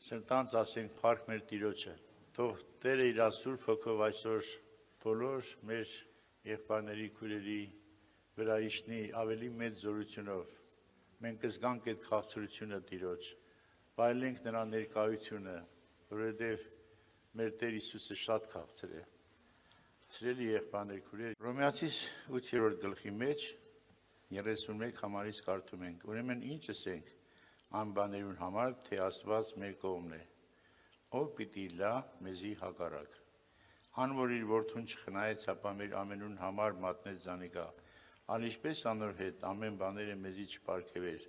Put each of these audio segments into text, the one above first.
Սրտանց ասենք փառք մեր Տիրոջը։ Թող Տերը իր Սուրբ Հոգով այսօր բոլոր մեր եղբայրների քույրերի վրա իջնի ավելի մեծ զորությունով։ Մենք կզգանք այդ քաղցրությունը Տիրոջ, վայելենք նրա ներկայությունը, որովհետև մեր Տեր Հիսուսը շատ քաղցր է։ Սիրելի եղբայրներ քույրեր, Հռոմեացիս 8-րդ գլխի մեջ 31 համարից կարդում ենք. Ուրեմն ինչ ասենք այն բաներուն համար, թե Աստված մեր կողմն է, ով պիտի լա մեզի հակառակ։ Ան որ իր որդուն չխնայեց, ապա մեր ամենուն համար մատնեց զանիկա, ալ ինչպես անոր հետ ամեն բաները մեզի չպարգևեր։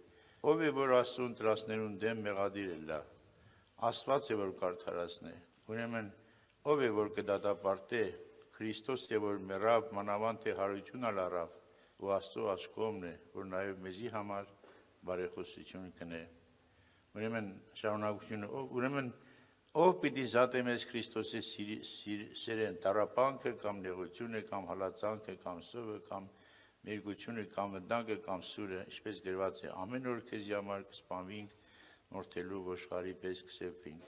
Ով է որ Աստծուն տրասներուն դեմ մեղադիր է լա, Աստված է որ կարդարացնե։ Ուրեմն ով է որ կդատապարտե, Քրիստոս է որ մեռավ, մանավանդ թե հարություն ալարավ, ու Աստծո աչքովն է, որ նաև մեզի համար բարեխոսություն կնե։ Ուրեմն շարունակությունը, ուրեմն ով պիտի զատե մեզ Քրիստոսի սերեն, տառապանքը կամ նեղությունը կամ հալածանքը կամ սովը կամ մերգությունը կամ վտանգը կամ սուրը, ինչպես գրված է, ամեն օր քեզի համար կսպանվինք, մորթելու ոշխարի պես կսեպվինք։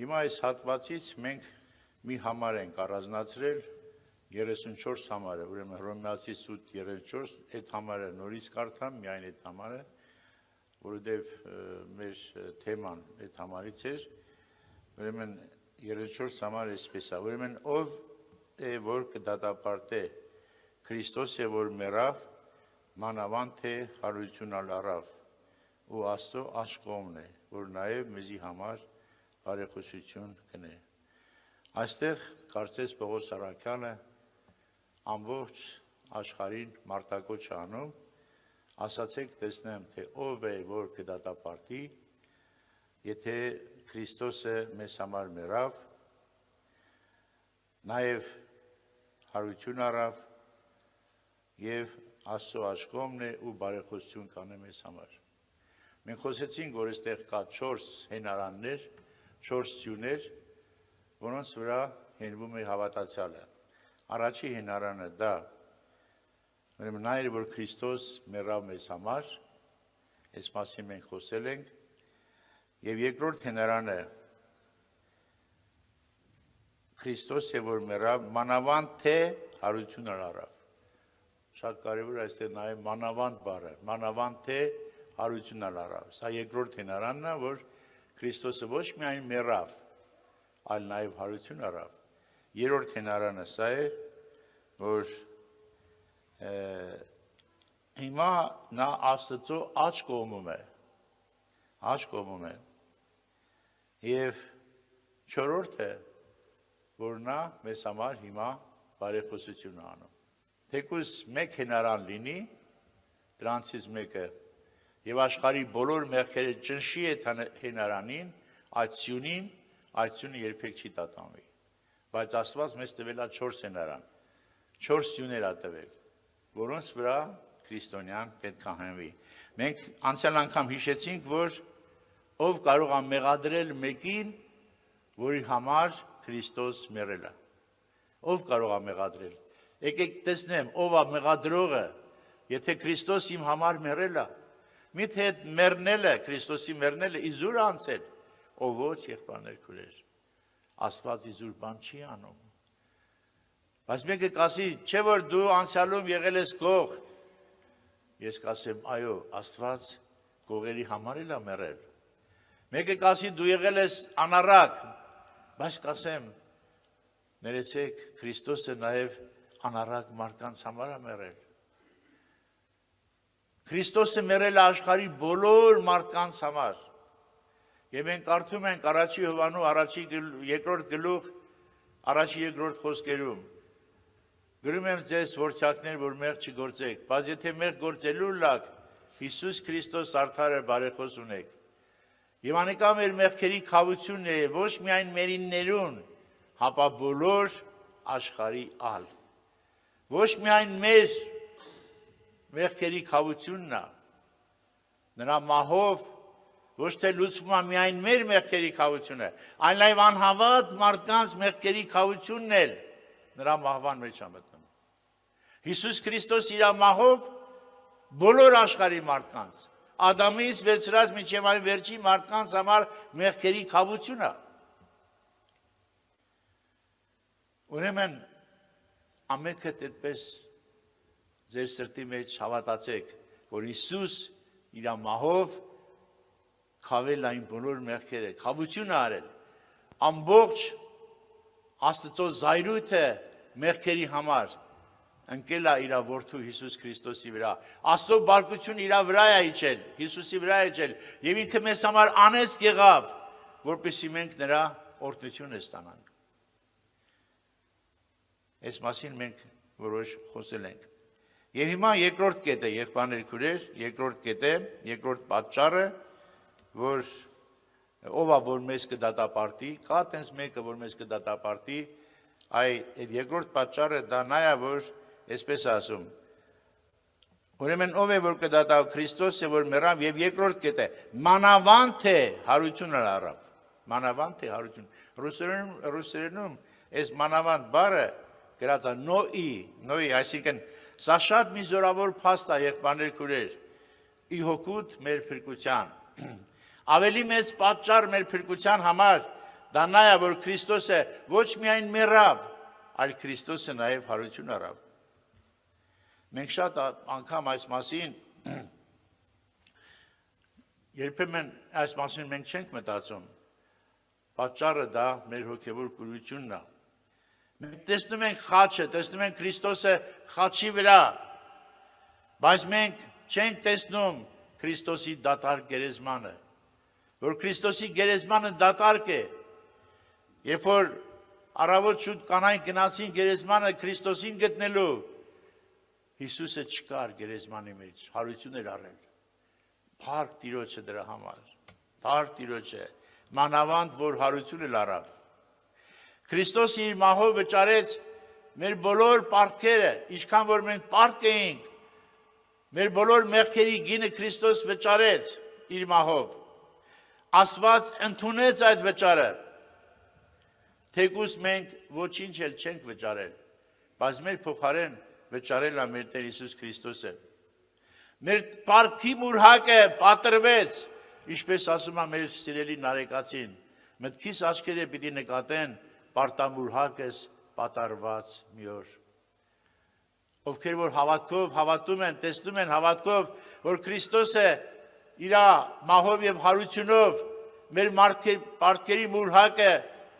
Հիմա այս հատվածից մենք մի համար ենք առանձնացրել 34 համարը, ուրեմն Հռոմեացիս 8:34, այդ համարը նորից կարդամ, միայն այդ համարը, որովհետև մեր թեման այդ համարից էր, ուրեմն 34 համարը այսպես է, ուրեմն ով է որ կդատապարտե, Քրիստոս է որ մեռավ, մանավանդ թե հարություն ալարավ, ու Աստծո աշխողն է, որ նաև մեզի համար բարեխոսություն կնե։ Այստեղ կարծես Պողոս առաքյալը ամբողջ աշխարհին մարտակոչ անում, ասացեք տեսնեմ, թե ով է որ կդատապարտի, եթե Քրիստոսը մեզ համար մեռավ, նաև հարություն առավ եւ Աստծո աշխողն է ու բարեխոսություն կանե մեզ համար։ Մենք խոսեցինք, որ այստեղ կա 4 հենարաններ, 4 սյուներ, որոնց վրա հենվում է հավատացյալը։ Առաջի հենարանը դա, ուրեմն նա էր, որ Քրիստոս մեռավ մեզ համար, այս մասին մենք խոսել ենք, եւ երկրորդ հենարանը Քրիստոս է, որ մեռավ, մանավանդ թե հարություն առավ։ Շատ կարևոր է այստեղ նաև մանավանդ բառը, մանավանդ թե հարություն առավ։ Սա երկրորդ հենարանն է, որ Քրիստոսը ոչ միայն մեռավ, այլ նաև հարություն առավ։ Երրորդ հենարանը սա է, որ հիմա նա Աստծո աջ կողմում է, և չորրորդը, որ նա մեզ համար հիմա բարեխոսություն է անում։ Թեկուզ մեկ հենարան լինի, դրանցից մեկը, և աշխարհի բոլոր մեղքերը ճնշի այդ հենարանին, այդ սյունին, այդ սյունը երբեք չի տատանվի։ Բայց Աստված մեզ տվել է 4 հենարան, 4 սյուներ է տվել, որոնց վրա քրիստոնյան պետք է հենվի։ Մենք անցյալ անգամ հիշեցինք, որ ով կարող է մեղադրել մեկին, որի համար Քրիստոս մեռել է։ Ով կարող է մեղադրել։ Եկեք տեսնեմ, ով է մեղադրողը, եթե Քրիստոս իմ համար մեռել է, միթե այդ մեռնելը, Քրիստոսի մեռնելը իզուր անցել, ով ոչ եղբայրներ քույրեր։ Աստված իզուր բան չի անում։ Բայց մեկը կասի, չէ որ դու անցյալում եղել ես գող։ Ես կասեմ, այո, Աստված գողերի համար էլ է մեռել։ Մեկը կասի, դու եղել ես անառակ, բայց կասեմ, ներեցեք, Քրիստոսը նաև անառակ մարդկանց համար է մեռել։ Քրիստոսը մեռել է աշխարհի բոլոր մարդկանց համար։ Եվ մենք կարդում ենք առաջի Հովհաննու երկրորդ գլուխ, առաջի երկրորդ խոսքերում. գրում եմ ձեզ որդյակներ, որ մեղք չգործեք, բայց եթե մեղք գործելու լաք, Հիսուս Քրիստոս արդար է բարեխոս ունեք։ Եվ անիկա մեր մեղքերի քավությունն է, ոչ միայն մերիններուն, հապա բոլոր աշխարհի ալ։ Ոչ միայն մեր մեղքերի քավությունն է, նրա մահով ոչ թե լուծվում է միայն մեր մեղքերի քավությունը, այլ նաև անհավատ մարդկանց մեղքերի քավությունն էլ նրա մահվան մեջ է մտնում։ Հիսուս Քրիստոս իր մահով բոլոր աշխարհի մարդկանց, Ադամից վերցրած մինչև այն վերջի մարդկանց համար մեղքերի քավությունը։ Ուրեմն ամենքը այդպես ձեր սրտի մեջ հավատացեք, որ Հիսուս իր մահով քավել այն բոլոր մեղքերը, քավությունը արել, ամբողջ Աստծո զայրույթը մեղքերի համար ընկել է իր որդու Հիսուս Քրիստոսի վրա։ Աստծո բարկությունը իր վրա է իջել, Հիսուսի վրա է իջել, եւ ինքը մեզ համար անեսք եղավ, որպեսզի մենք նրա օրհնությունը ստանանք։ Այս մասին մենք որոշ խոսել ենք։ Եվ հիմա երկրորդ կետը, եղբայրներ քույրեր, երկրորդ կետը, երկրորդ պատճառը, որ ով է որ մեզ կդատապարտի, կա տենց մեկը որ մեզ կդատապարտի, այդ երկրորդ պատճառը դա նա է, որ այսպես ասում։ Ուրեմն ով է որ կդատա Քրիստոսը որ մեռավ եւ երկրորդ կետը մանավանդ թե հարությունը առավ։ Մանավանդ թե հարություն։ Ռուսերենում այս մանավանդ բառը գրած է նոյի, այսինքն սա շատ մի զորավոր փաստ է եղբայրներ քույրեր։ Ի հոգուտ մեր փրկության։ Ավելի մեծ պատճառ մեր փրկության համար դա նա է որ Քրիստոսը ոչ միայն մեռավ, այլ Քրիստոսը նաև հարություն առավ։ Մենք շատ անգամ այս մասին երբեմն այս մասին մենք չենք մտածում։ Պատճառը դա մեր հոգևոր կուրությունն է։ Մենք տեսնում ենք խաչը, տեսնում ենք Քրիստոսը խաչի վրա, բայց մենք չենք տեսնում Քրիստոսի դատարկ գերեզմանը, որ Քրիստոսի գերեզմանը դատարկ է։ Երբ որ առավոտ շուտ կանայք գնացին գերեզմանը Քրիստոսին գտնելու, Հիսուսը չկար գերեզմանի մեջ, հարություն էր առել։ Փառք Տիրոջը դրա համար։ Փառք Տիրոջը, մանավանդ որ հարություն էլ առավ։ Քրիստոսը իր մահով վճարեց մեր բոլոր պարտքերը, ինչքան որ մենք պարտք էինք, մեր բոլոր մեղքերի գինը Քրիստոս վճարեց իր մահով։ Աստված ընդունեց այդ վճարը։ Թեկուզ մենք ոչինչ էլ չենք վճարել, բայց մեր փոխարեն վճարել է մեր Տեր Հիսուս Քրիստոսը։ Մեր պարտքի մուրհակը պատրվեց, ինչպես ասում է մեր սիրելի նարեկացին, մտքիս աչքերը պիտի նկատեն պարտամուրհակս պատարված մի օր։ Ովքեր որ հավատքով հավատում են, տեսնում են հավատքով, որ Քրիստոսը իր մահով եւ հարությունով մեր պարտքերի մուրհակը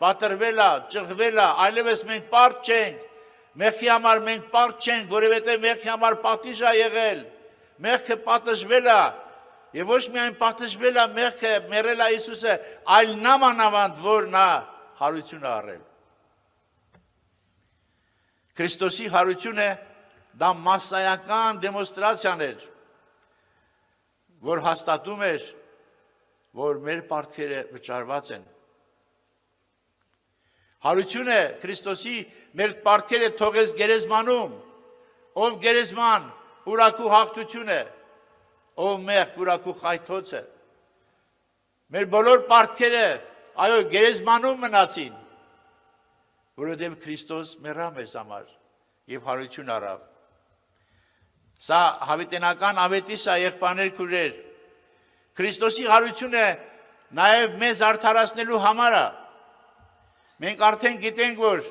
պատրվել է, ճղվել է, այլևս մենք պարտ չենք, մեղքի համար մենք պարտ չենք, որովհետև մեղքի համար պատիժ է եղել, մեղքը պատժվել է, եւ ոչ միայն պատժվել է մեղքը, մեռել է Հիսուսը, այլ նամանավանդ որ նա հարություն է առել։ Քրիստոսի հարությունը դա մասսայական դեմոնստրացիան էր, որ հաստատում էր, որ մեր պարտքերը վճարված են։ Հարությունը Քրիստոսի մեր պարտքերը թողեց գերեզմանում, ով գերեզման ուրաքու հաղթությունը, ով մեղք ուրաքու խայթոցը։ Մեր բոլոր պարտքերը այո գերեզմանում մնացին, որովհետև Քրիստոս մեռավ մեզ համար եւ հարություն առավ։ Սա հավիտենական ավետիս է եղբայրներ քույրեր։ Քրիստոսի հարությունը նաեւ մեզ արդարացնելու համար է։ Մենք արդեն գիտենք, որ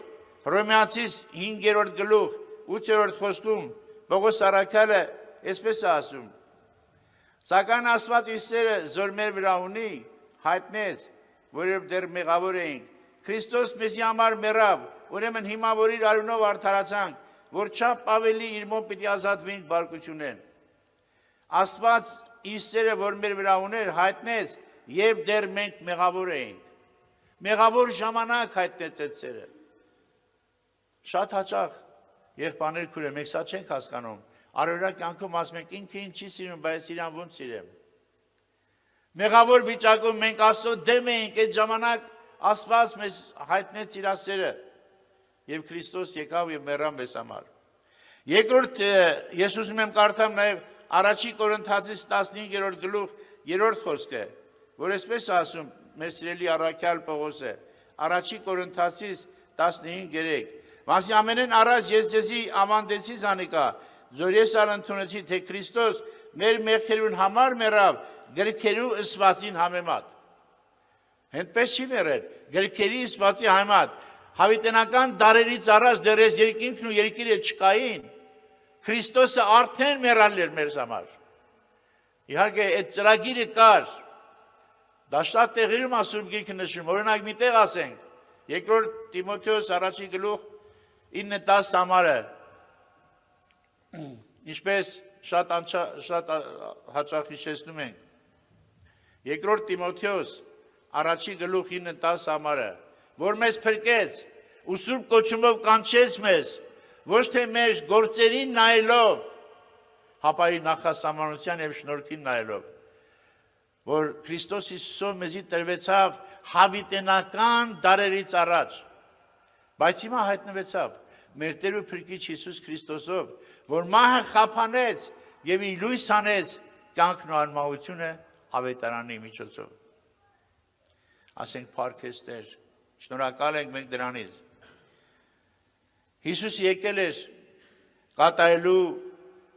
Հռոմեացիս 5-րդ գլուխ 8-րդ խոսքում Պողոս առաքյալը այսպես է ասում. Սակայն Աստված իր սերը զոր մեր վրա ունի, հայտնեց, որով դեռ մեղավոր էինք։ Քրիստոս մեզի համար մեռավ, ուրեմն հիմա որ իր արյունով արդարացանք, որ չափ ավելի իր մոտ պիտի ազատվենք բարկությունեն։ Աստված իր սերը որ մեր վրա ուներ, հայտնեց, երբ դեռ մենք մեղավոր էինք։ Մեղավոր ժամանակ հայտնեց այդ սերը։ Շատ հաճախ եղբայրներ քույրեր, մենք սա չենք հասկանում։ Առօրյա կյանքում ասում ենք ինքը ինչ չի սիրում, բայց իրան ոնց սիրեմ։ Մեղավոր վիճակում մենք Աստծո դեմ էինք, այդ ժամանակ Աստված մեզ հայտնեց իր սերը եւ Քրիստոս եկավ եւ մեռավ մեզ համար։ Երկրորդ ես ուզում եմ կարդամ նաեւ Առաջի Կորինթացիս 15-րդ գլուխ 3-րդ խոսքը, որ այսպես ասում մեր սիրելի առաքյալ Պողոսը, Առաջի Կորինթացիս 15:3 Մասի ամենեն առաջ ես ձեզի ավանդեցի զանիկա, զոր ես ալ ընդունեցի, թե Քրիստոս մեր մեղքերուն համար մեռավ գրքերու ըսվածին համեմատ։ Հենց չի մեռել, գրքերի ըսվածի համեմատ, հավիտենական դարերից առաջ դեռ այս երկինքն ու երկիրը չկային, Քրիստոսը արդեն մեռալ էր մեր համար։ Իհարկե այդ ծրագիրը կար, դա շատ տեղերում Սուրբ Գիրքը նշում, օրինակ մի տեղ ասենք, 2 Տիմոթեոս առաջի գլուխ 9-10 համարը, ինչպես շատ հաճախ հիշեցնում ենք, 2 Տիմոթեոս առաջի գլուխ 9-10 համարը, որ մեզ փրկեց ու Սուրբ կոչումով կանչեց մեզ, ոչ թե մեր գործերին նայելով, հապայի նախասահմանության և շնորհքին նայելով, որ Քրիստոս Հիսուսով մեզի տրվեցավ հավիտենական դարերից առաջ, բայց հիմա հայտնվեցավ մեր Տեր ու Փրկիչ Հիսուս Քրիստոսով, որ մահը խափանեց և իր լույս հանեց կյանքն ու անմահությունը ավետարանի միջոցով։ Ասենք փառքես Տեր, շնորհակալ ենք մենք դրանից։ Հիսուսը եկել էր կատարելու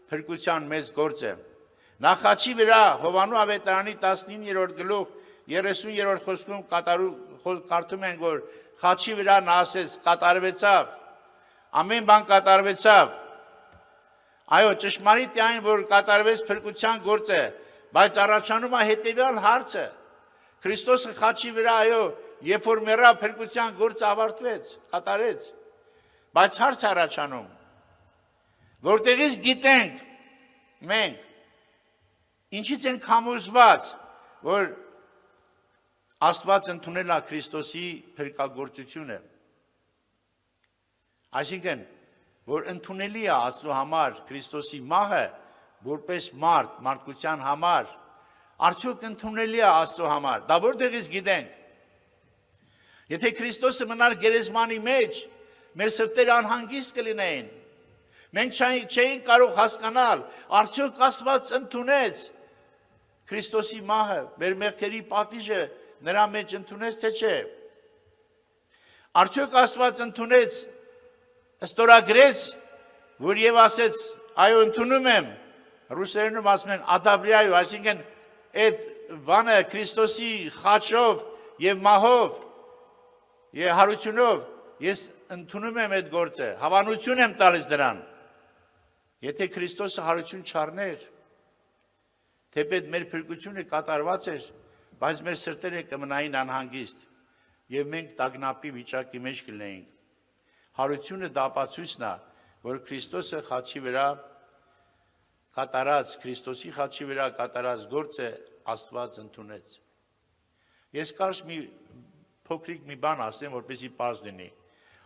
փրկության մեծ գործը։ Նախաչի վրա Հովանու ավետարանի 19-րդ գլուխ 30-րդ խոսքում կարդում ենք, որ խաչի վրա նա ասեց կատարվեցավ, ամեն բան կատարվեցավ։ Այո, ճշմարիտ է այն, որ կատարվեց փրկության գործը, բայց առաջանում է հետևյալ հարցը։ Քրիստոսը խաչի վրա, այո, երբ որ մեռավ, փրկության գործը ավարտվեց, կատարեց, բայց հարց առաջանում, որտեղից գիտենք մենք, ինչից ենք համոզված, որ Աստված ընդունել է Քրիստոսի փրկագործությունը։ Այսինքն, որ ընդունելի է Աստծո համար Քրիստոսի մահը, որպես մարդ, մարդկության համար, արդյոք ընդունելի է Աստծո համար, դա որտեղից գիտենք։ Եթե Քրիստոսը մնար գերեզմանի մեջ, մեր սրտերը անհանգիստ կլինեին։ Մենք չէինք կարող հասկանալ, արդյոք Աստված ընդունեց Քրիստոսի մահը, մեր մեղքերի պատիժը նրա մեջ ընդունեց, թե չէ։ Արդյոք Աստված ընդունեց, ստորագրեց, որ եւ ասեց, այո, ընդունում եմ, ռուսերենում ասում են ադաբրիայու, այսինքն այդ բանը Քրիստոսի խաչով եւ մահով եւ հարությունով ես ընդունում եմ այդ գործը, հավանություն եմ տալիս դրան։ Եթե Քրիստոսը հարություն չառներ, թեպետ մեր փրկությունը կատարված էր, բայց մեր սրտերը կմնային անհանգիստ եւ մենք տագնապի վիճակի մեջ կլինեինք։ Հարությունը դա ապացույցն է, որ Քրիստոսը խաչի վրա կատարած, Քրիստոսի խաչի վրա կատարած գործը Աստված ընդունեց։ Ես կարճ մի փոքրիկ մի բան ասեմ, որպեսզի պարզ լինի։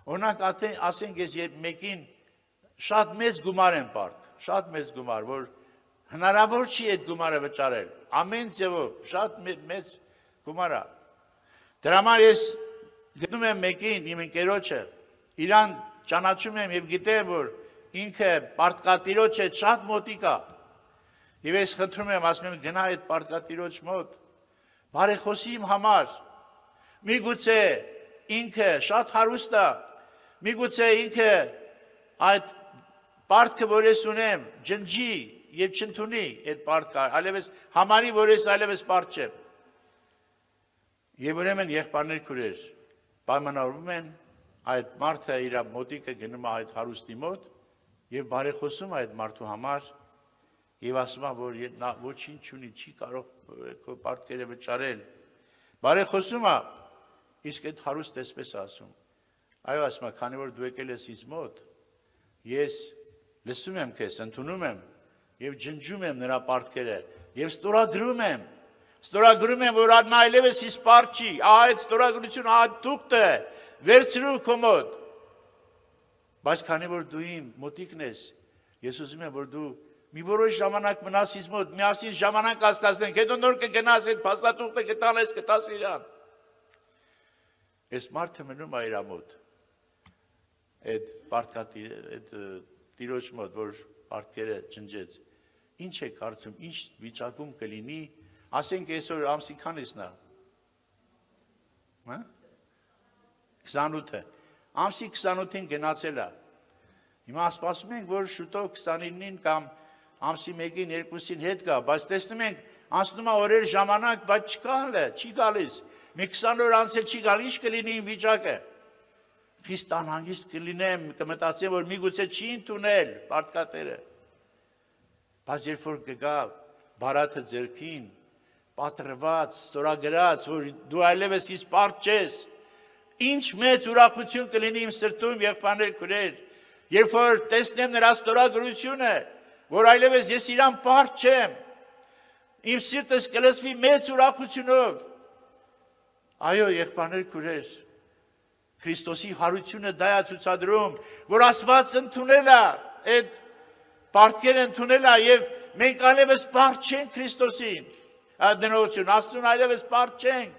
Օրինակ ասենք ես մեկին շատ մեծ գումար եմ պարկ, շատ մեծ գումար, որ հնարավոր չի այդ գումարը վճարել, ամեն ձևով, շատ մեծ գումար է։ Դրա համար ես գտնում եմ մեկին, իմ ընկերոջը, իրան ճանաչում եմ եւ գիտեմ, որ ինքը պարտկատիրոջ է շատ մոտիկ է։ Եվ ես խնդրում եմ, ասում եմ, գնա այդ պարտկատիրոջ մոտ, բարեխոսի իմ համար, միգուցե ինքը շատ հարուստ է, միգուցե ինքը այդ պարտքը, որ ես ունեմ, ջնջի եւ չընդունի այդ պարտքը, այլևս համարի, որ ես այլևս պարտ չեմ։ Եվ ուրեմն եղբայրներ քուրեր պայմանավորվում են, այդ մարդը իր մոտիկը գնում է այդ հարուստի մոտ եւ բարեխոսում այդ մարդու համար եւ ասում է, որ նա ոչինչ չունի, չի կարող քո պարտքերը վճարել։ Բարեխոսում է, իսկ այդ հարուստը էսպես ասում։ Այո, ասում է, քանի որ դու եկել ես ինձ մոտ, ես լսում եմ քեզ, ընդունում եմ եւ ջնջում եմ նրա պարտքերը եւ ստորագրում եմ, որ նա այլևս ինձ պարտ չի, այդ ստորագրությունը, այդ թուղթը վերցրու քո մոտ։ Բայց քանի որ դու իմ մոտիկն ես, ես ուզում եմ, որ դու մի որոշ ժամանակ մնաս ինձ մոտ, միասին ժամանակ անցկացնենք, հետո նոր կգնաս այդ փաստաթուղթը կտանես, կտաս իրան։ Այս մարդը մնում է իր մոտ, այդ տիրոջ մոտ, որ պարտքերը ջնջեց։ Ինչ է կարծում, ինչ վիճակում կլինի, ասենք այսօր ամսի քանիսն է։ 28-ը։ Ամսի 28-ին գնացել է։ Հիմա սպասում ենք, որ շուտով 29-ին կամ ամսի 1-ին 2-ին հետ գա, բայց տեսնում ենք անցնում է օրեր ժամանակ, բայց չկա հələ, չի գալիս։ Մի 20 օր անց չի գալիս, ինչ կլինի իմ վիճակը։ Խիստ անհանգիստ կլինեմ, կմտածեմ, որ միգուցե չի ընդունել պարտքատերը։ Բայց երբ որ կգա բարաթը ձեռքին, պատրված, ստորագրած, որ դու այլևս ինձ պարտ չես, ինչ մեծ ուրախություն կլինի իմ սրտում, եղբայրներ, քույրեր, երբ որ տեսնեմ նրա ստորագրությունը, որ այլևս ես իրան պարտ չեմ, իմ սիրտս կլսվի մեծ ուրախությունով։ Այո, եղբայրներ, քույրեր, Քրիստոսի հարությունը դա է ցուցադրում, որ Աստված ընդունել է, այդ պարտքերը ընդունել է եւ մենք այլևս պարտ չենք Քրիստոսին։ Դնողություն, Աստծուն այլևս պարտ չենք,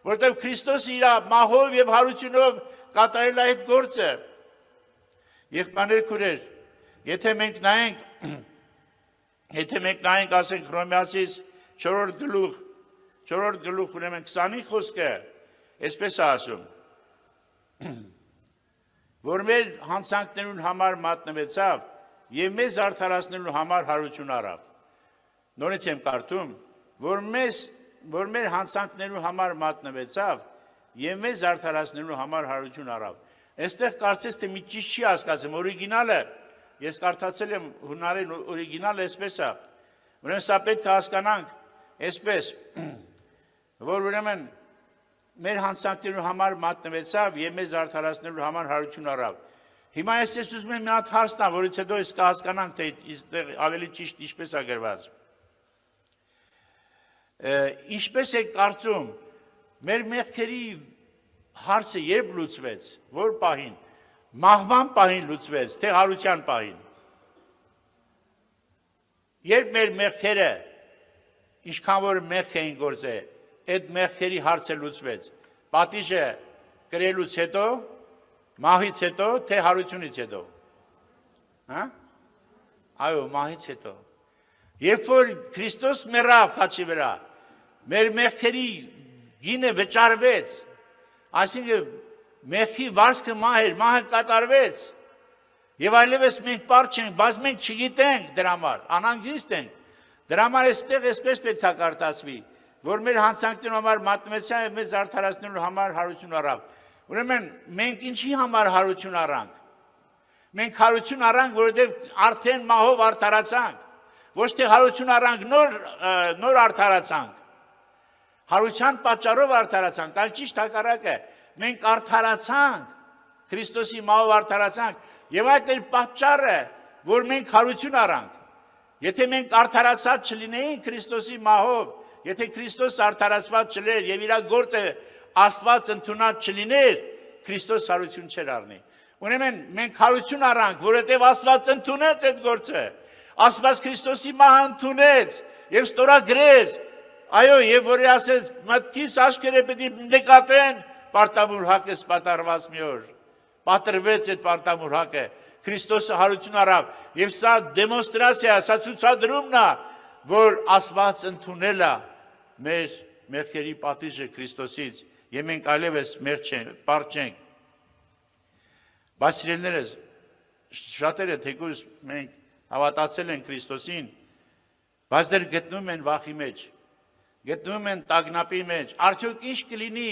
որտեղ Քրիստոսը իր մահով եւ հարությունով կատարել է այդ գործը։ Եղբայրներ, քույրեր, եթե մենք նայենք, ասենք Հռոմեացիս 4 գլուխ, ուրեմն 20-ի խոսքը, այսպես է ասում, որ մեր հանցանքներուն համար մատնվեցավ եւ մեզ արդարացնելու համար հարություն առավ։ Նորից եմ կարդում, որ մեր հանցանքներու համար մատնվեցավ եւ մեզ արդարացնելու համար հարություն առավ։ Այստեղ կարծես թե մի ճիշտ չի հասկացում, օրիգինալը, ես կարդացել եմ հունարեն օրիգինալը այսպես է։ Ուրեմն սա պետք է հասկանանք այսպես, որ ուրեմն մեր հանցանքներու համար մատնվեցավ եւ մեզ արդարացնելու համար հարություն առավ։ Հիմա ես ուզում եմ մի հատ հարց տամ, որից հետո ես կհասկանանք, թե այստեղ ավելի ճիշտ ինչպես է գրված։ Ինչպես է կարծում, մեր մեղքերի հարցը երբ լուծվեց, որ պահին, մահվան պահին լուծվեց, թե հարության պահին։ Երբ մեր մեղքերը, ինչքան որ մեղք էին գործել, այդ մեղքերի հարցը լուծվեց, պատիժը կրելուց հետո, մահից հետո, թե հարությունից հետո։ Այո, մահից հետո։ Երբ որ Քրիստոս մեռավ խաչի վրա, մեր մեղքերի գինը վճարվեց, այսինքն մեղքի վարձքը մահը կատարվեց, եւ այլևս մենք պարտ չենք, բայց մենք չգիտենք դրա համար, անհանգիստ ենք։ Դրա համար այստեղ այսպես պետք է կարդացվի, որ մեր հանցանքներու համար մատնվեցավ եւ մեզ արդարացնելու համար հարություն առավ։ Ուրեմն մենք ինչի համար հարություն առանք։ Մենք հարություն առանք, որովհետեւ արդեն մահով արդարացանք։ Ոչ թե հարություն առանք, նոր արդարացանք։ Հարության պատճառով արդարացանք, այլ ճիշտ հակառակը։ Մենք արդարացանք, Քրիստոսի մահով արդարացանք, եւ այդ էր պատճառը, որ մենք հարություն առանք։ Եթե մենք արդարացած չլինեինք Քրիստոսի մահով, եթե Քրիստոս արդարացված չլեր եւ իր գործը Աստված ընդունած չլիներ, Քրիստոս հարություն չէր առնի։ Ուրեմն մենք հարություն առանք, որովհետեւ Աստված ընդունեց այդ գործը։ Աստված Քրիստոսի մահը ընդունեց եւ ստորագրեց։ Այո, եւ որ ասես մտքիս աչքերը պետք է նկատեն պարտավոր հակը սպատարված մի օր։ Պատրվեց այդ պարտավոր հակը։ Քրիստոսը հարություն առավ եւ սա դեմոնստրացիա, սա ցուցադրումն է, որ Աստված ընդունել է մեր մեղքերի պատիժը Քրիստոսից եւ մենք այլևս պարտ չենք։ Բայց սիրելիներս, շատերը թեկուզ մենք հավատացել են Քրիստոսին, բայց դեռ գտնվում են վախի մեջ, գտնվում են տագնապի մեջ։ Արդյոք ինչ կլինի,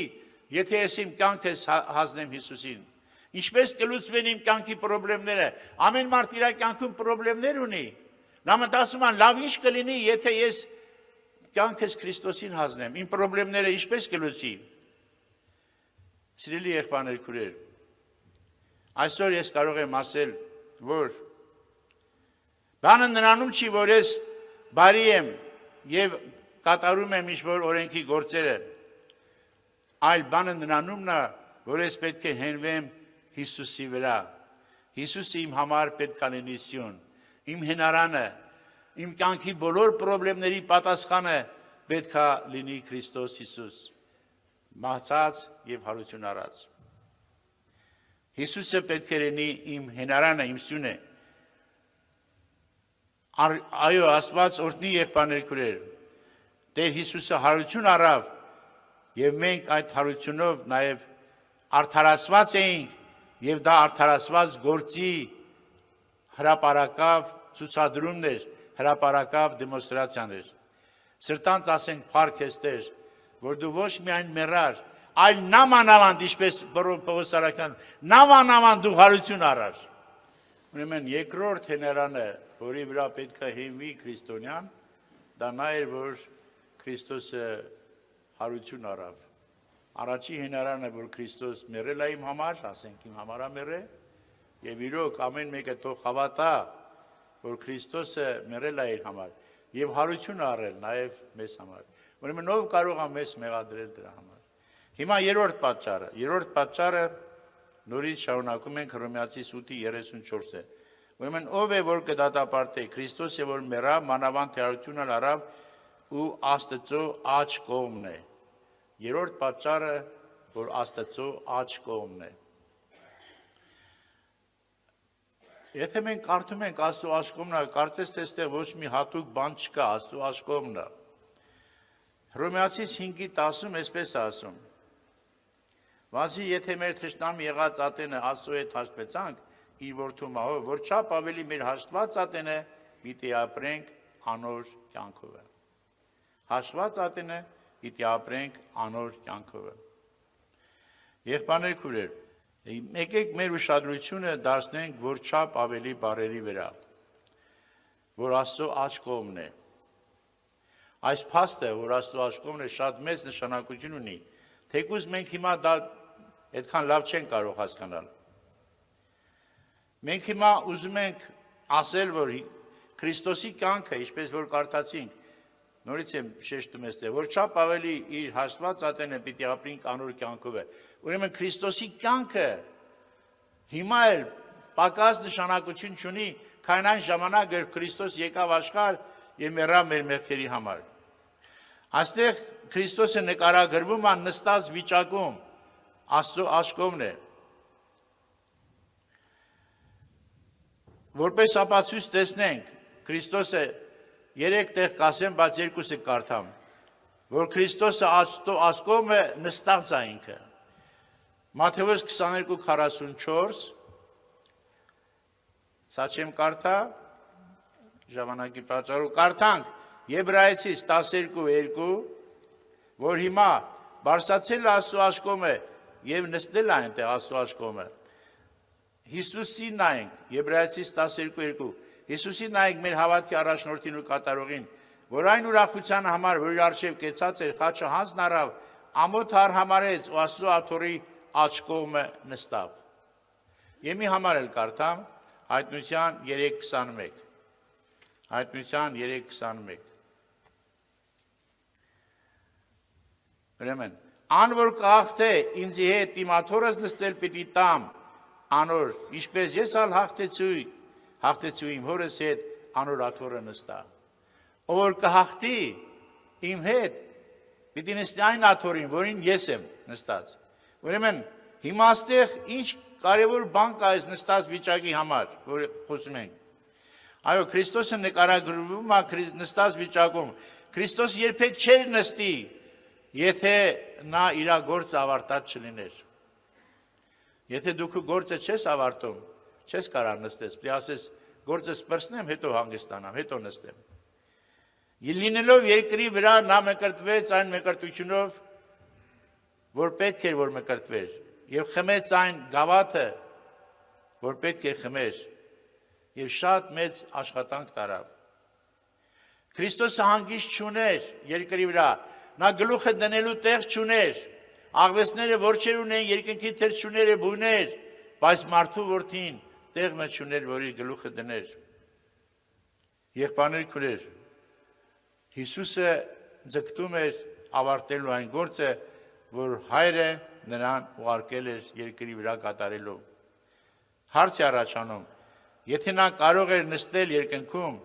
եթե ես իմ կյանքս հանձնեմ Հիսուսին։ Ինչպես կլուծվեն իմ կյանքի խնդիրները։ Ամեն մարդ իր կյանքում խնդիրներ ունի։ Նա մտածում է, լավ ինչ կլինի, եթե ես կյանքս Քրիստոսին հանձնեմ, իմ խնդիրները ինչպես կլուծի։ Սիրելի եղբայրներ, քույրեր, այսօր ես կարող եմ ասել, որ բանը նրանում չի, որ ես բարի եմ եւ կատարում եմ ինչ-որ օրենքի գործերը, այլ բանը նրանումն է, որ ես պետք է հենվեմ Հիսուսի վրա։ Հիսուսը իմ համար պետք է լինի սյուն, իմ հենարանը, իմ կյանքի բոլոր խնդիրների պատասխանը պետք է լինի Քրիստոս Հիսուս, մահացած եւ հարություն առած։ Հիսուսը պետք է լինի իմ հենարանը, իմ սյունը։ Այո, Աստված օրհնի եղբայրներ, քույրեր, Տեր Հիսուսը հարություն առավ եւ մենք այդ հարությունով նաեւ արդարացված էինք եւ դա արդարացված գործի հրապարակավ ցուցադրումն էր, հրապարակավ դեմոնստրացիաներ։ Սրտանց ասենք փառք ես Տեր, որ դու ոչ միայն մեռար, այլ նամանավանդ, ինչպես Պողոս Արաքյան, նամանավանդ դու հարություն առար։ Ուրեմն երկրորդ հեներանը, որի վրա պետք է հիմնվի քրիստոնյան, դա նա էր, որ Քրիստոսը հարություն առավ։ Առաջի հեներանը, որ Քրիստոս մեռել է իմ համար, ասենք իմ համար է մեռել, եւ իրոք ամեն մեկը թող հավատա, որ Քրիստոսը մեռել է իր համար եւ հարություն առել նաեւ մեզ համար։ Ուրեմն ով կարող է մեզ մեղադրել դրա համար։ Հիմա երրորդ պատճառը նորից շարունակում ենք Հռոմեացիս 8:34-ը։ Ուրեմն ով է որ կդատապարտե Քրիստոսը որ մեռավ, մանավանդ հարությունը առավ ու Աստծո աջ կողմն է։ Երրորդ պատճառը, որ Աստծո աջ կողմն է։ Եթե մենք կարդում ենք Աստծո աջ կողմն, կարծես թե այստեղ ոչ մի հատուկ բան չկա, Աստծո աջ կողմն է։ Հռոմեացիս 5:10-ում այսպես ասում. Վասի եթե մեր թշնամի եղած ատենը Աստծո հետ հաշտվեցանք իր որդու մահով, որ չափ ավելի մեր հաշտված ատենը պիտի ապրենք անոր կյանքով։ Հաշտված ատենը պիտի ապրենք անոր կյանքով։ Եղբայրներ քույրեր, եկեք մեր ուշադրությունը դարձնենք որ չափ ավելի բարերի վրա, որ Աստծո աջ կողմն է։ Այս փաստը, որ Աստծո աջ կողմն է, շատ մեծ նշանակություն ունի, թեկուզ մենք հիմա դա այդքան լավ չենք կարող հասկանալ։ Մենք հիմա ուզում ենք ասել, որ Քրիստոսի կյանքը, ինչպես որ կարդացինք, նորից եմ շեշտում եմ, որ չափ ավելի իր հաշտված ատենը պիտի ապրենք անոր կյանքով է։ Ուրեմն Քրիստոսի կյանքը հիմա էլ պակաս նշանակություն չունի, քան այն ժամանակ, երբ Քրիստոս եկավ աշխարհ եւ մեռավ մեր մեղքերի համար։ Այստեղ Քրիստոսը նկարագրվում է նստած վիճակում, Աստծո աջ կողմն է։ Որպես ապացույց տեսնենք, Քրիստոսը 3 տեղ կասեմ, բայց 2-ը կարդամ, որ Քրիստոսը Աստծո աջ կողմը նստած է ինքը։ Մատթեոս 22:44, սա չեմ կարդա, ժամանակի պատճառով կարդանք Եբրայեցիս 12:2, որ հիմա բարձրացել է Աստծո աջ կողմը եւ նստել է այնտեղ Աստծո աջ կողմը։ Հիսուսին նայենք, Եբրայեցիս 12:2, Հիսուսին նայենք մեր հավատքի առաջնորդին ու կատարողին, որ այն ուրախության համար, որ իր արժև կեցած էր, խաչը հանձն առավ, ամոթ արհամարեց ու Աստծո աթոռի աջ կողմը նստավ։ Եվ մի համար էլ կարդամ, Հայտնության 3:21։ Հայտնության 3:21։ Ուրեմն, ան որ կհաղթե ինձի հետ իմ աթոռս նստել պիտի տամ անոր, ինչպես ես ալ հաղթեցու իմ հորս հետ անոր աթոռը նստա։ Ով որ կհաղթի իմ հետ պիտի նստի այն աթոռին, որին ես եմ նստած։ Ուրեմն հիմա այստեղ ինչ կարևոր բան կա այս նստած վիճակի համար, որ խոսում ենք։ Այո, Քրիստոսը նկարագրվում է նստած վիճակում։ Քրիստոս երբեք չէր նստի, եթե նա իր գործը ավարտած չլիներ։ Եթե դու քո գործը չես ավարտում, չես կարող նստես, պիտի ասես գործը սպրսնեմ, հետո հանգստանամ, հետո նստեմ։ Լինելով երկրի վրա նա մկրտվեց այն մկրտությունով, որ պետք էր որ մկրտվեր, եւ խմեց այն գավաթը, որ պետք է խմեր, եւ շատ մեծ աշխատանք տարավ։ Քրիստոսը հանգիստ չուներ երկրի վրա, նա գլուխը դնելու տեղ չուներ, աղվեսները որջեր ունեն, երկնքի թերչուները բույներ, բայց մարդու որդին տեղ մը չուներ, որ իր գլուխը դներ։ Եղբայրներ քույրեր, Հիսուսը ձգտում էր ավարտելու այն գործը, որ Հայրը նրան ուղարկել էր երկրի վրա կատարելու։ Հարց է առաջանում, եթե նա կարող էր նստել երկնքում,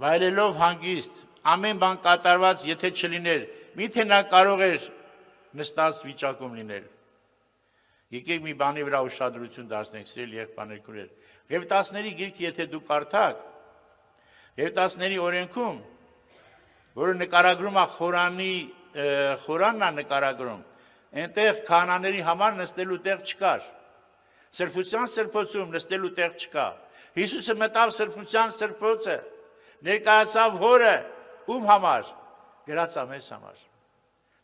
վայելելով հանգիստ, ամեն բան կատարված, եթե չլիներ, միթե նա կարող էր նստած վիճակում լինել։ Եկեք մի բանի վրա ուշադրություն դարձնենք, սիրելի եղբայրներ քույրեր։ Ղևտացների գիրքը եթե դուք կարդաք, Ղևտացների օրենքում, որը նկարագրում է խորանն է նկարագրում, այնտեղ քահանաների համար նստելու տեղ չկար։ Սրբության սրբոցում նստելու տեղ չկա։ Հիսուսը մտավ սրբության սրբոցը, ներկայացավ հորը, ում համար, գրածա մեզ համար,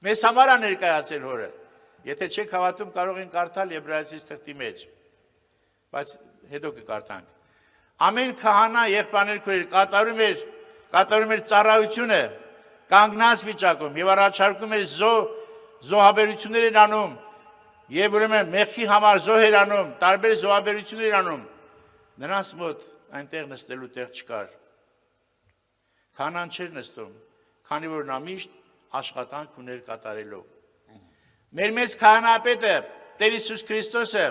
մեզ համար է ներկայացել հորը, եթե չեք հավատում կարող են կարդալ Եբրայեցիս թղթի մեջ, բայց հետո կկարդանք, ամեն քահանա եղբայրներ քույրեր կատարում էր ծառայությունը կանգնած վիճակում եւ առաջարկում էր զոհաբերություններ էր անում եւ ուրեմն մեղքի համար զոհեր անում, տարբեր զոհաբերություններ անում, նրանց մոտ այնտեղ նստելու տեղ չկար, քահանան չէր նստում, քանի որ նա միշտ աշխատանք ուներ կատարելով, մեր մեծ քահանապետը Տեր Հիսուս Քրիստոսը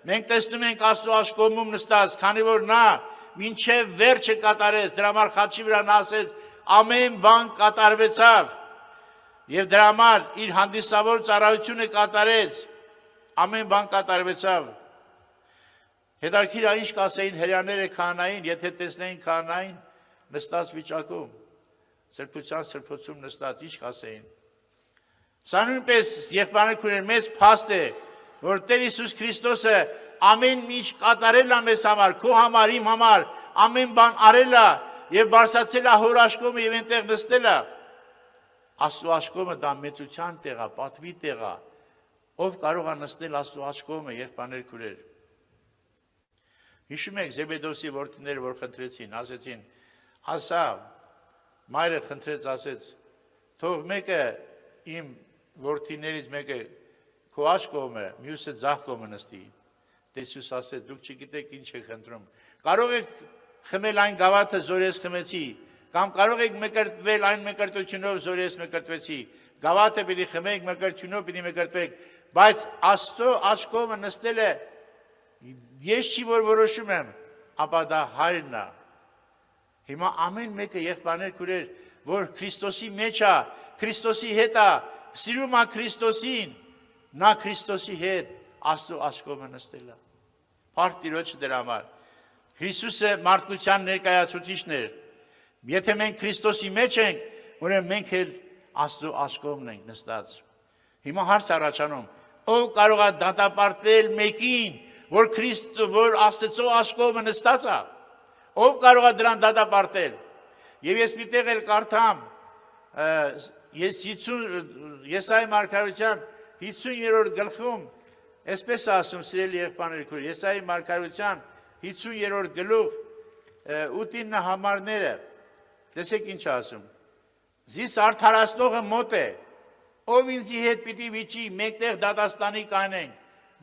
մենք տեսնում ենք Աստծո աշկոմում նստած, քանի որ նա մինչև վերջը կատարեց, դրա համար խաչի վրա նա ասեց, ամեն բան կատարվեցավ եւ դրա համար իր հանդիսավոր ծառայությունը կատարեց, ամեն բան կատարվեցավ։ Հետարքիր է ինչ կասեին հրեաները քահանային, եթե տեսնեին քահանային նստած վիճակում, սրբության սրբոցում նստած, ինչ կասեին։ Սա նույնպես եղբայրներ քույրեր մեծ փաստ է, որ Տեր Հիսուս Քրիստոսը ամեն ինչ կատարել է մեզ համար, քո համար, իմ համար, ամեն բան արել է եւ բարձրացել է հոր աշկոմը եւ այնտեղ նստել է։ Աստծո աշկոմը դա մեծության տեղ է, պատվի տեղ է։ Ով կարող է նստել Աստծո աշկոմը, եղբայրներ քույրեր։ Հիշում եք Զեբեդոսի որդիները, որ խնդրեցին, ասեցին, ասա, մայրը խնդրեց, ասեց, թող մեկը իմ որդիներից մեկը քո աշկոմը, մյուսը ձախ կողմը նստի։ Տեր Հիսուս ասեց, դուք չգիտեք ինչ եք խնդրում։ Կարող եք խմել այն գավաթը, զոր ես խմեցի, կամ կարող եք մկրտվել այն մկրտությունով, զոր ես մկրտվեցի։ Գավաթը պիտի խմեք, մկրտությունով պիտի մկրտվեք, բայց Աստծո աշկոմը նստել է, ես չի որ որոշում եմ, ապա դա Հայրն է։ Հիմա ամեն մեկը եղբայրներ քույրեր, որ Քրիստոսի մեջ է, Քրիստոսի հետ է, սիրում է Քրիստոսին, նա Քրիստոսի հետ Աստծո աշկոմը նստել է։ Փառք Տիրոջը դրա համար։ Հիսուսը մարդկության ներկայացուցիչն էր։ Եթե մենք Քրիստոսի մեջ ենք, ուրեմն մենք էլ Աստծո աշկոմն ենք նստած։ Հիմա հարց առաջանում, ով կարող է դատապարտել մեկին, որ Աստծո աշկոմը նստած է։ Ով կարող է դրան դատապարտել։ Եվ ես մի տեղ էլ կարդամ, Եսայի մարգարության 50-րդ գլխում, այսպես ասում, սիրելի եղբայրներ քույրեր, Եսայի մարգարության 50-րդ գլուխ 8-9 համարները, տեսեք ինչ ասում, զիս արդարացնողը մոտ է, ով ինձի հետ պիտի վիճի, մեկտեղ դատաստանի կանենք,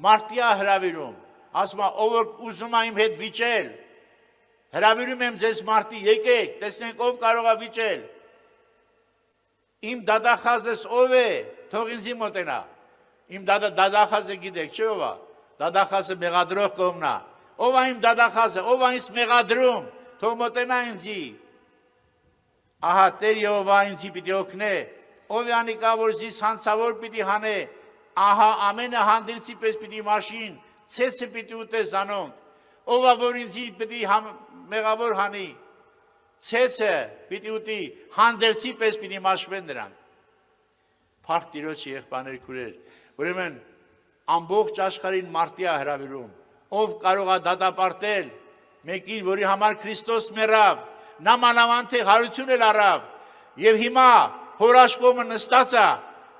մարտիա հրավիրում, ասում է, ով որ ուզում է իմ հետ վիճել, հրավիրում եմ ձեզ մարտի, եկեք, տեսնենք ով կարող է վիճել, իմ դատախազս ով է, թող ինձի մոտենա, իմ դատախազը գիտեք, չէ ով է, դատախազը մեղադրող կողմն է, ով է իմ դատախազը, ով է ինձ մեղադրում, թող մոտենա ինձի, ահա Տեր Եհովա ինձի պիտի օգնե, ով է անիկա, որ զիս հանցավոր պիտի հանե, ահա ամենը հանդերձի պես պիտի մաշին, ցեցը պիտի ուտե զանոնք, ով է, որ ինձի պիտի մեղավոր հանի, ցեցը պիտի ուտի, հանդերձի պես պիտի մաշվեն նրանք։ Փառք Տիրոջը եղբայրներ քույրեր, ուրեմն ամբողջ աշխարհին մարտիա հրավիրում, ով կարող է դատապարտել մեկին, որի համար Քրիստոս մեռավ, նա մանավանդ թե հարություն էլ առավ, եւ հիմա հոր աշկոմը նստած է,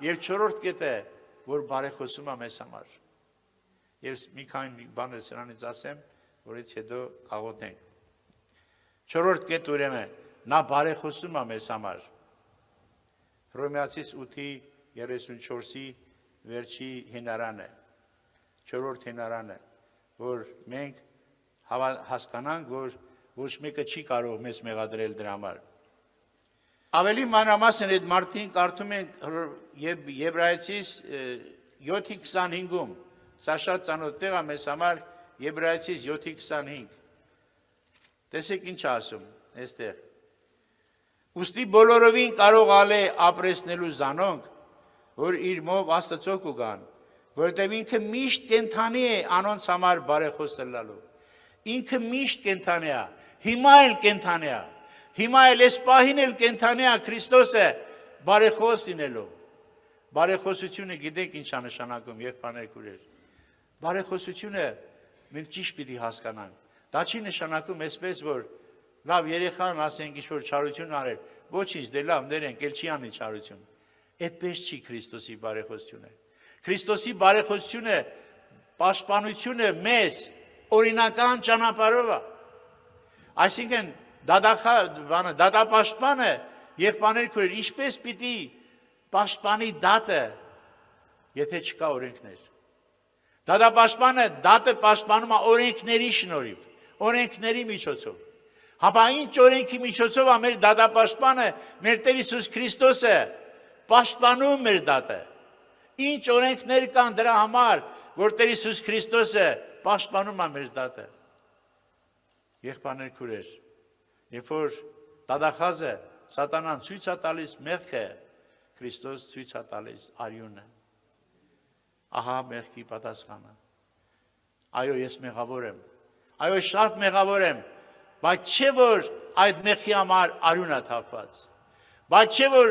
եւ 4-րդ կետը, որ բարեխոսում է մեզ համար։ Եվ մի քանի բաներ սրանից ասեմ, որից հետո կաղոթենք։ 4-րդ կետը ուրեմն նա բարեխոսում է մեզ համար։ Հռոմեացիս 8:34-ի վերջի հենարանը, 4-րդ հենարանը, որ մենք հասկանանք, որ ոչ մեկը չի կարող մեզ մեղադրել դրա համար։ Ավելի մանրամասն այդ մարդին կարդում ենք Եբրայեցիս 7:25-ում, սա շատ ծանոթ տեղ է մեզ համար, Եբրայեցիս 7:25։ Տեսեք ինչ ասում այստեղ։ Ուստի բոլորովին կարող ալե ապրեսնելու զանոնք, որ իր մով Աստծո կգան, որտեղ ինքը միշտ կենթանի է անոնց համար բարեխոս լալու։ Ինքը միշտ կենթանի է, հիմա էլ կենթանի է, հիմա էլ այս պահին էլ կենթանի է Քրիստոսը բարեխոս լինելու։ Բարեխոսությունը գիտեք ինչ է նշանակում, եղբայրներ քույրեր։ Բարեխոսությունը մենք ճիշտ պիտի հասկանանք։ Դա չի նշանակում այսպես, որ լավ երեխան ասենք ինչ-որ չարություն արել, ոչինչ, դե լավ ներենք, էլ չի անի չարություն։ Այդպես չի Քրիստոսի բարեխոսությունը։ Քրիստոսի բարեխոսությունը պաշտպանությունը մեզ օրինական ճանապարհով է։ Այսինքն դատապաշտպանը եղբայրներ քույրեր, ինչպես պիտի պաշտպանի դատը, եթե չկա օրենքներ։ Դատապաշտպանը դատը պաշտպանում է օրենքների շնորհիվ, օրենքների միջոցով։ Հապա ինչ օրենքի միջոցով է մեր դատապաշտպանը, մեր Տեր Հիսուս Քրիստոսը պաշտպանում մեր դատը։ Ինչ օրենքներ կան դրա համար, որ Տեր Հիսուս Քրիստոսը պաշտպանում է մեր դատը։ Եղբայրներ քույրեր, երբ որ դատախազը սատանան ցույց է տալիս մեղքը, Քրիստոս ցույց է տալիս արյունը։ Ահա մեղքի պատասխանը։ Այո, ես մեղավոր եմ։ Այո, շատ մեղավոր եմ, բայց չէ որ այդ մեղքի համար արյուն է թափված։ Բայց չէ որ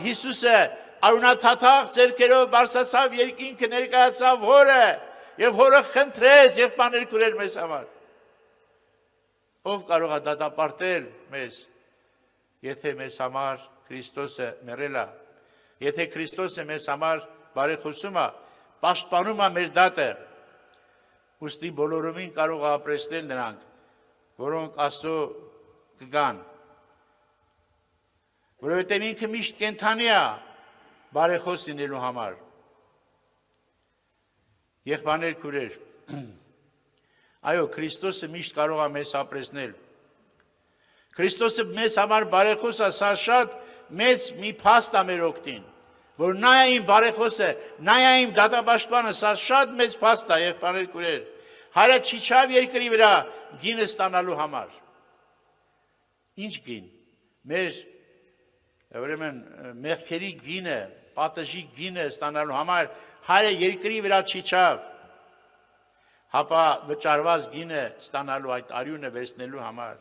Հիսուսը արյունաթաթախ ձեռքերով բարձրացավ երկինքը, ներկայացավ Հորը եւ Հորը խնդրեց եղբայրներ քույրեր մեզ համար։ Ով կարող է դատապարտել մեզ, եթե մեզ համար Քրիստոսը մեռել է, եթե Քրիստոսը մեզ համար բարեխոսում է, պաշտպանում է մեր դատը, ուստի բոլորովին կարող է ապրեցնել նրանք, որոնք Աստծո կգան, որովհետև ինքը միշտ կենդանի է բարեխոս լինելու համար։ Եղբայրներ քույրեր, այո, Քրիստոսը միշտ կարող է մեզ ապրեցնել։ Քրիստոսը մեզ համար բարեխոս է, սա շատ մեծ մի փաստ է մեր օգտին, որ նա է իմ բարեխոսը, նա է իմ դատապաշտպանը, սա շատ մեծ փաստ է, եղբայրներ քույրեր։ Հայրը չիջավ երկրի վրա գինը ստանալու համար։ Ինչ գին։ Մեր ուրեմն մեղքերի գինը, պատժի գինը ստանալու համար հայրը երկրի վրա չիջավ, հապա վճարված գինը ստանալու այդ արյունը վերցնելու համար։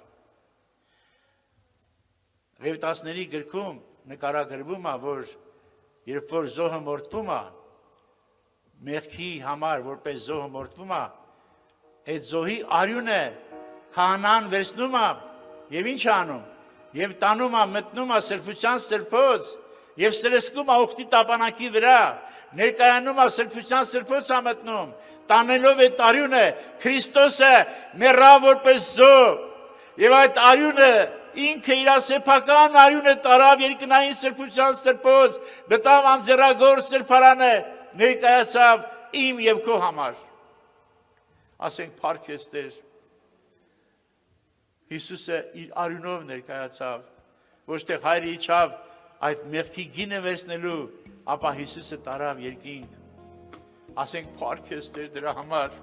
Ղևտացների գրքում նկարագրվում է, որ երբ որ զոհը մորթվում է, մեղքի համար որպես զոհը մորթվում է, այդ զոհի արյունը քահանան վերցնում է եւ ինչ անում, եւ տանում է, մտնում է սրբության սրբոց եւ սրսկում է ուխտի տապանակի վրա, ներկայանում է սրբության սրբոց է մտնում, տանելով այդ արյունը Քրիստոսը մեռավ որպես զոհ եւ այդ արյունը ինքը իր սեփական արյունը տարավ երկնային սրբության սրբոց, մտավ անձեռագոր սրբարանը, ներկայացավ իմ եւ քո համար։ Ասենք փառք ես Տեր։ Հիսուսը իր արյունով ներկայացավ, ոչ թե հայրը իջավ այդ մեղքի գինը վերցնելու, ապա Հիսուսը տարավ երկինք։ Ասենք փառք ես Տեր դրա համար։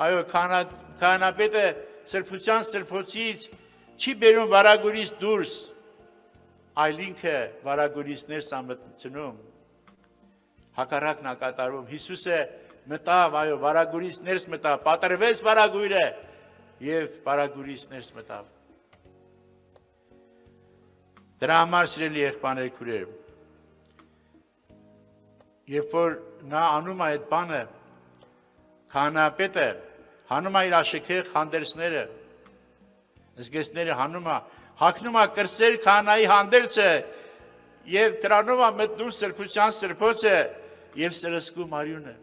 Այո, քահանապետը սրբության սրբոցից չի բերում վարագուրից դուրս, այլ ինքը վարագուրից ներս է մտնում, հակառակն է կատարում։ Հիսուսը մտավ, այո, վարագուրից ներս մտավ, պատրվեց վարագույրը եւ վարագուրից ներս մտավ։ Դրա համար սիրելի եղբայրներ քույրեր, երբ որ նա անում է այդ բանը, քահանապետը հանում է իր աշեքեղ հանդերձները, զգեստները հանում է, հագնում է կրսեր քահանայի հանդերձը եւ դրանով է մտնում սրբության սրբոցը եւ սրսկում արյունը։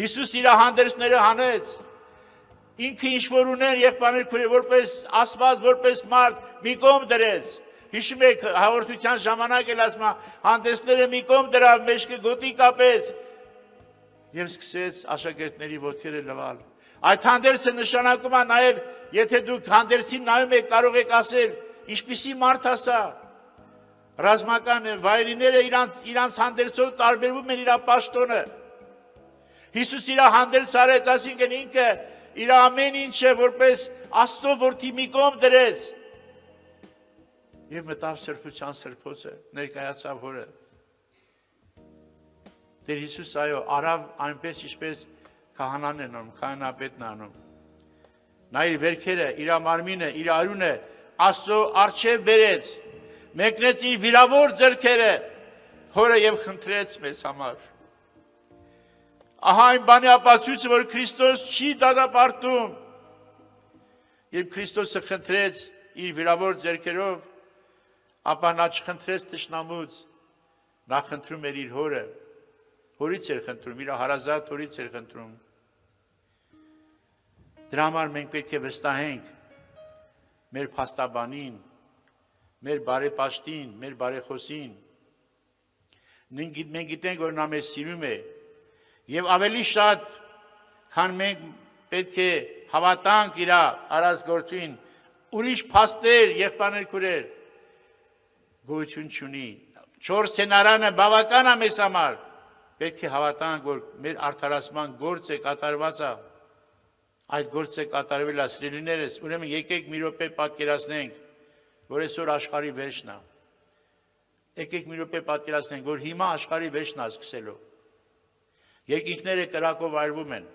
Հիսուս իր հանդերձները հանեց, ինքը ինչ որ ուներ եղբայրներ քույրեր, որպես Աստված, որպես մարդ մի կողմ դրեց։ Հիշում եք հաղորդության ժամանակ էլ ասում հանդեսները մի կողմ դրավ, մեջքը գոտի կապեց եւ սկսեց աշակերտների ոտքերը լվալ։ Այդ հանդերձը նշանակում է նաեւ, եթե դուք հանդերձին նայում եք, կարող եք ասել, ինչպիսի մարդ է սա։ Ռազմական վայրիները իրանց հանդերձով տարբերվում են իր պաշտոնը։ Հիսուս իր հանդերձ արեց, այսինքն ինքը իր ամեն ինչը որպես Աստծո որդի մի կողմ դրեց։ Եվ մտավ սրբության սրբոցը, ներկայացավ Հորը։ Տեր Հիսուս այո, արավ այնպես ինչպես քահանան են անում, քահանապետն անում։ Նա իր վերքերը, իր մարմինը, իր արյունը Աստծո առջև բերեց, մեկնեց իր վիրավոր ձեռքերը Հորը եւ խնդրեց մեզ համար։ Ահա այն բանի ապացույցը, որ Քրիստոս չի դատապարտում։ Երբ Քրիստոսը խնդրեց իր վիրավոր ձեռքերով, ապա նա չխնդրեց թշնամուց, նա խնդրում էր իր հորը, հորից էր խնդրում, իր հարազատ հորից էր խնդրում։ Դրա համար մենք պետք է վստահենք մեր փաստաբանին, մեր բարեպաշտին, մեր բարեխոսին։ Մենք գիտենք, որ նա մեզ սիրում է, եւ ավելի շատ, քան մենք պետք է հավատանք իր արած գործին, ուրիշ փաստեր, եղբայրներ քուրեր, գոյություն չունի։ 4 սցենարանը բավական է մեզ համար։ Պետք է հավատանք, որ մեր արդարացման գործը կատարված է։ Այդ գործը կատարվել է, սիրելիներս, ուրեմն եկեք մի րոպե պատկերացնենք, որ այսօր աշխարհի վերջն է։ Եկեք մի րոպե պատկերացնենք, որ հիմա աշխարհի վերջն է սկսելու։ Երկինքները կրակով այրվում են,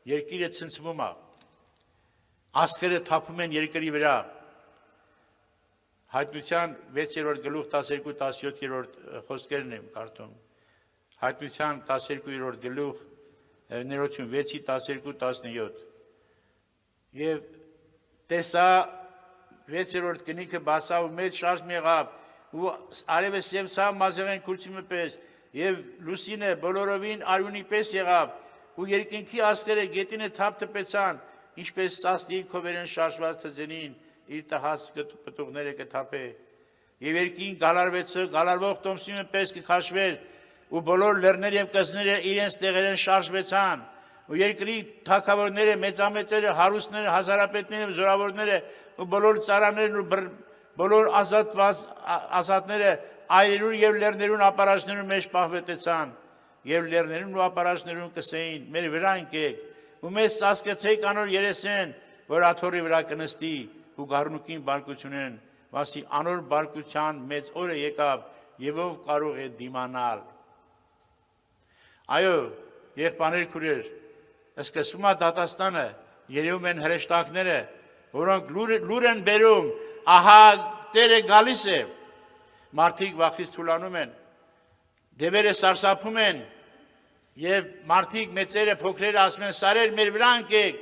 երկիրը ցնցվում է, աստղերը թափում են երկրի վրա։ Հայտնության 6-րդ գլուխ 12-17-րդ խոսքերն եմ կարդում։ Հայտնության 12-րդ գլուխ ներողություն 6-12-17։ Եվ տեսա 6-րդ կնիքը բացա ու մեծ շարժ եղավ ու արևս եւ սա մազեղեն քուրծիմը պես եւ լուսինը բոլորովին արյունի պես եղավ ու երկինքի աստղերը գետինը թափ տպեցան, ինչպես սաստիկ քովերեն շարժված թզենին իր տհաս պտուղները կթափե եւ երկին գալարվող տոմսիմը պես կքաշվեր ու բոլոր լեռները եւ կզները իրենց տեղերեն շարժվեցան ու երկրի թագավորները, մեծամեծերը, հարուստները, հազարապետները, զորավորները ու բոլոր ծառաներն ու բոլոր ազատները այրերուն եւ լեռներուն ապարաշներուն մեջ պահվետեցան եւ լեռներուն ու ապարաշներուն կսեին մեր վրա ընկեք ու մեզ սասկեցեք անոր երեսեն որ աթոռի վրա կնստի ու գառնուկին բարկությունեն վասի անոր բարկության մեծ օրը եկավ եւ ով կարող է դիմանալ այո եղբայրներ քուրեր սկսվում է դատաստանը երևում են հրեշտակները որոնք լուր են բերում ահա Տերը գալիս է մարդիկ վախից թուլանում են դևերը սարսափում են եւ մարդիկ մեծերը փոքրերը ասում են սարեր մեր վրա ընկեք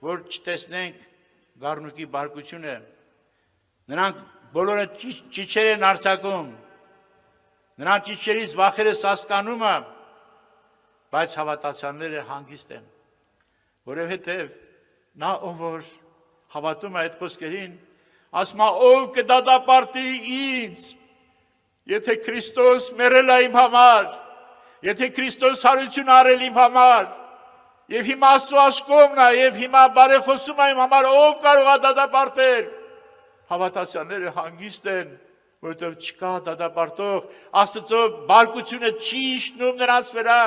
որ չտեսնենք գառնուկի բարկությունը նրանք բոլորը ճիչեր են արձակում նրանց ճիչերից վախերը սասկանում է բայց հավատացյալները հանգիստ են որովհետեւ նա ով որ հավատում է այդ խոսքերին ասում է ով կդատապարտի ինձ եթե Քրիստոս մեռել է իմ համար եթե Քրիստոս հարություն արել իմ համար եւ հիմա Աստծո աշկոմն է եւ հիմա բարեխոսում է իմ համար ով կարող է դատապարտել հավատացյալները հանգիստ են որովհետեւ չկա դատապարտող Աստծո բարկությունը չի իջնում նրանց վրա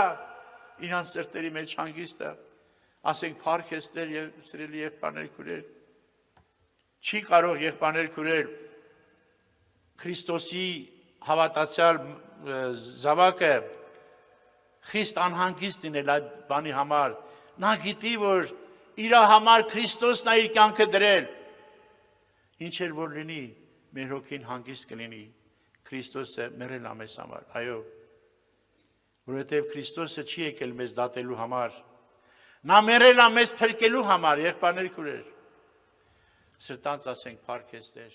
իրանց սրտերի մեջ հանգիստ է ասենք փառք Աստծո եւ սիրելի եղբայրներ քուրեր չի կարող եղբայրներ քուրեր Քրիստոսի հավատացյալ զավակը խիստ անհանգիստ լինել այդ բանի համար նա գիտի որ իր համար Քրիստոսն է իր կյանքը դրել ինչ էլ որ լինի մեր հոգին հանգիստ կլինի Քրիստոսը մեռել է մեզ համար այո որովհետև Քրիստոսը չի եկել մեզ դատելու համար նա մեռել է մեզ փրկելու համար եղբայրներ քուրեր սրտանց ասենք փառք Տեր